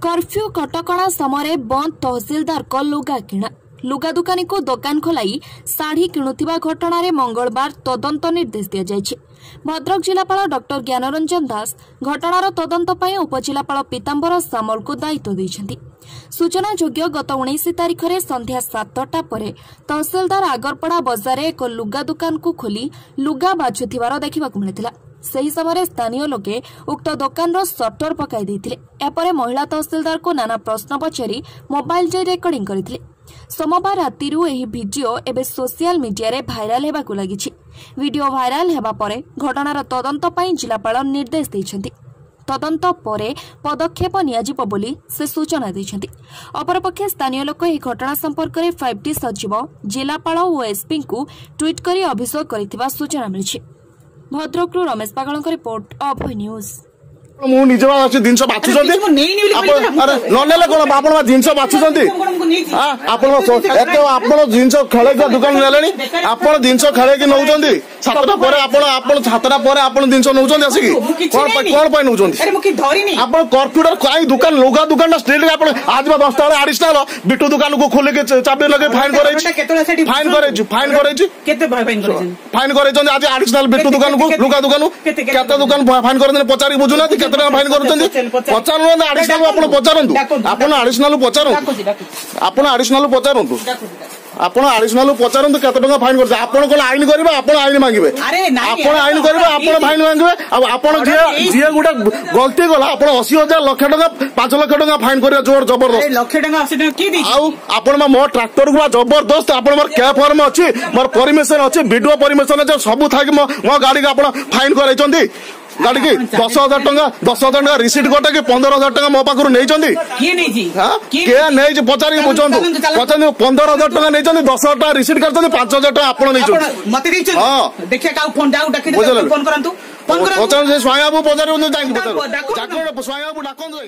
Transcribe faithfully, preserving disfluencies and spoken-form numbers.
Curfew କଟକଣା ସମୟରେ ବନ୍ଦ ତହସିଲଦାରଙ୍କ ଲୁଗା କିଣା। ଲୁଗା ଦୋକାନୀକୁ ଦୋକାନ ଖୋଲାଇ ଶାଢ଼ୀ କିଣୁଥିବା ଘଟଣାରେ ମଙ୍ଗଳବାର ତଦନ୍ତ ନିର୍ଦ୍ଦେଶ ଦିଆଯାଇଛି। ଭଦ୍ରକ ଜିଲ୍ଲାପାଳ ଡକ୍ଟର ଜ୍ଞାନରଞ୍ଜନ ଦାସ ଘଟଣାର ତଦନ୍ତ ପାଇଁ ଉପଜିଲ୍ଲାପାଳ ପୀତାମ୍ବର ସାମଲଙ୍କୁ ଦାୟିତ୍ୱ ଦେଇଛନ୍ତି। ସୂଚନାଯୋଗ୍ୟ, ଗତ ଉଣେଇଶ ତାରିଖରେ ସନ୍ଧ୍ୟା ସାତଟା ପରେ ତହସିଲଦାର ଆଗରପଡ଼ା ବଜାରରେ ଏକ ଲୁଗା ଦୋକାନକୁ ଖୋଲି ଲୁଗା ବାଛୁଥିବାର ଦେଖିବାକୁ ମିଳିଥିଲା। ସେହି ସମୟରେ ସ୍ଥାନୀୟ ଲୋକେ ଉକ୍ତ ଦୋକାନର ସଟର ପକାଇ ଦେଇଥିଲେ। ଏହାପରେ ମହିଳା ତହସିଲଦାରଙ୍କୁ ନାନା ପ୍ରଶ୍ନ ପଚାରି ମୋବାଇଲ ଯାଇ ରେକର୍ଡିଂ କରିଥିଲେ। ସୋମବାର ରାତିରୁ ଏହି ଭିଡିଓ ଏବେ ସୋସିଆଲ ମିଡିଆରେ ଭାଇରାଲ ହେବାକୁ ଲାଗିଛି। ଭିଡିଓ ଭାଇରାଲ ହେବା ପରେ ଘଟଣାର ତଦନ୍ତ ପାଇଁ ଜିଲ୍ଲାପାଳ ନିର୍ଦ୍ଦେଶ ଦେଇଛନ୍ତି। ତଦନ୍ତ ପରେ ପଦକ୍ଷେପ ନିଆଯିବ ବୋଲି ସେ ସୂଚନା ଦେଇଛନ୍ତି। ଅପରପକ୍ଷେ ସ୍ଥାନୀୟ ଲୋକ ଏହି ଘଟଣା ସମ୍ପର୍କରେ ଫାଇଭ୍ ଟି ସଚିବ, ଜିଲ୍ଲାପାଳ ଓ ଏସ୍ପିଙ୍କୁ ଟ୍ୱିଟ୍ କରି ଅଭିଯୋଗ କରିଥିବା ସୂଚନା ମିଳିଛି। ଭଦ୍ରକରୁ ରମେଶ ପାଗଳଙ୍କ ରିପୋର୍ଟ, ଅଭୟ ନ୍ୟୁଜ୍। ମୁଁ ନିଜେ ଅଛି, ଜିନିଷ ବାଛୁଛନ୍ତି। ଆରେ ନ ନେଲେ କଣ? ଆପଣ ଜିନିଷ ବାଛୁଛନ୍ତି। ଆପଣ ଏତେ ଆପଣ ଜିନିଷ ଖେଳେଇକି ଦୋକାନ ନେଲେଣି। ଆପଣ ଜିନିଷ ଖେଳେଇକି ନଉଛନ୍ତି ସାତଟା ପରେ। ଆପଣ ଆପଣ ସାତଟା ପରେ ଆପଣ ଜିନିଷ ନଉଛନ୍ତି ଆସିକି, କଣ ପାଇଁ କଣ ପାଇଁ ନଉଛନ୍ତି ଆପଣ? କର୍ଫ୍ୟୁଟା କାଇଁ? ଦୋକାନ, ଲୁଗା ଦୋକାନଟା ଷ୍ଟ୍ରିଟ୍। ଆପଣ ଆଜି ବା ଦଶଟା ବେଳେ ଆଡିସନାଲ ବିଟୁ ଦୋକାନକୁ ଖୋଲିକି ଚାବି ଲଗେଇ ଫାଇନ କରେଇଛି, ଫାଇନ କରେଇଛି, ଫାଇନ କରେଇଛି, ଫାଇନ କରେଇଛନ୍ତି ଆଜି ଆଡିସନାଲ ବିଟୁ ଦୋକାନକୁ, ଲୁଗା ଦୋକାନ। କେତେ ଦୋକାନ ଫାଇନ କରିଛନ୍ତି ପଚାରିକି ବୁଝୁନାହାନ୍ତି? କେତେ ଟଙ୍କା ଫାଇନ କରୁଛନ୍ତି ପଚାରୁନାହାନ୍ତି? ଆଡିସନାଲ ଆପଣ ପଚାରନ୍ତୁ, ଆପଣ ଆଡିସନାଲ ପଚାରନ୍ତୁ, ଆପଣ ଆଡିସନାଲ ପଚାରନ୍ତୁ, ଆପଣ ଆଡିସନାଲ ପଚାରନ୍ତୁ କେତେ ଟଙ୍କା ଫାଇନ କରୁଛନ୍ତି। ଆପଣ କଣ ଆଇନ କରିବେ? ଆପଣ ଆଇନ ମାଗିବେ? ଆପଣ ଆଇନ କରିବେ, ଆପଣ ଫାଇନ ମାଗିବେ। ଆଉ ଆପଣ ଯିଏ ଯିଏ ଗୋଟେ ଗଲତି କଲା, ଆପଣ ଅଶୀ ହଜାର, ଲକ୍ଷ ଟଙ୍କା, ପାଞ୍ଚ ଲକ୍ଷ ଟଙ୍କା ଫାଇନ କରିବା ଜୋର ଜବରଦସ୍ତ। ଲକ୍ଷ ଟଙ୍କା, ଅଶୀ ଟଙ୍କା କିଏ? ଆଉ ଆପଣ ମୋ ଟ୍ରାକ୍ଟରକୁ ବା ଜବରଦସ୍ତ। ଆପଣ ମୋର କ୍ୟାବ୍ ଫର୍ମ ଅଛି, ମୋର ପରମିଶନ ଅଛି, ଭିଡିଓ ପରମିଶନ ଅଛି, ସବୁ ଥାଇକି ମୋ ଗାଡିକୁ ଆପଣ ଫାଇନ କରାଇଛନ୍ତି। ଗାଡିକି ଦଶ ହଜାର ଟଙ୍କା, ଦଶ ହଜାର ଟଙ୍କା ରିସିଟ୍ କଟେଇକି ପନ୍ଦର ହଜାର ଟଙ୍କା ମୋ ପାଖରୁ ନେଇଛନ୍ତି। କିଏ ନେଇଛି ପଚାରିକି ବୁଝନ୍ତୁ, ପଚାରନ୍ତୁ। ପନ୍ଦର ହଜାର ଟଙ୍କା ନେଇଛନ୍ତି, ଦଶ ହଜାର ଟଙ୍କା ରିସିଟ୍ କାଟିଛନ୍ତି, ପାଞ୍ଚ ହଜାର ଟଙ୍କା ଆପଣ ନେଇଛନ୍ତି। ହଁ, ବୁଝିଲେ, ପଚାରନ୍ତୁ। ସେ ସ୍ୱାଇଁ ବାବୁ ପଚାରିବୁ, ଯାଇକି ପଚାରୁ, ସ୍ୱାଇଁ ବାବୁ ଡାକନ୍ତୁ।